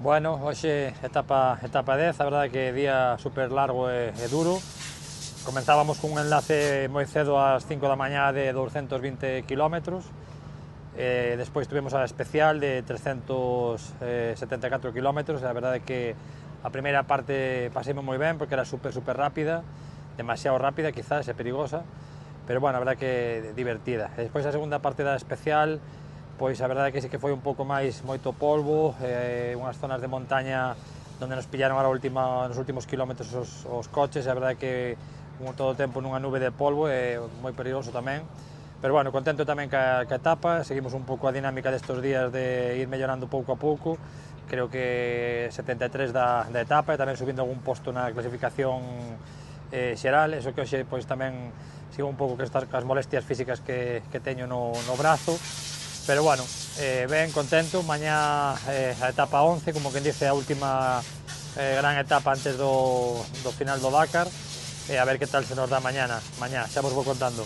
Bueno, hoxe etapa 10, a verdade que día super largo e duro. Comenzábamos cun enlace moi cedo ás 5 da mañá de 220 km, despois tuvemos a especial de 374 km, a verdade que a primeira parte paseime moi ben porque era super rápida, demasiado rápida quizás e perigosa, pero bueno, a verdade que divertida. E despois a segunda parte da especial, pois a verdade que sí que foi un pouco máis moito polvo, unhas zonas de montaña onde nos pillaron nos últimos kilómetros os coches, e a verdade que todo o tempo nunha nube de polvo e moi perigoso tamén. Pero bueno, contento tamén ca etapa, seguimos un pouco a dinámica destes días de ir mellorando pouco a pouco, creo que 73 da etapa e tamén subindo algún posto na clasificación xeral, eso que hoxe pois tamén sigo un pouco cas molestias físicas que teño no brazo, pero bueno, ben contento. Mañá a etapa 11, como quen dice, a última gran etapa antes do final do Dakar, a ver que tal se nos dá mañá, xa vos vou contando.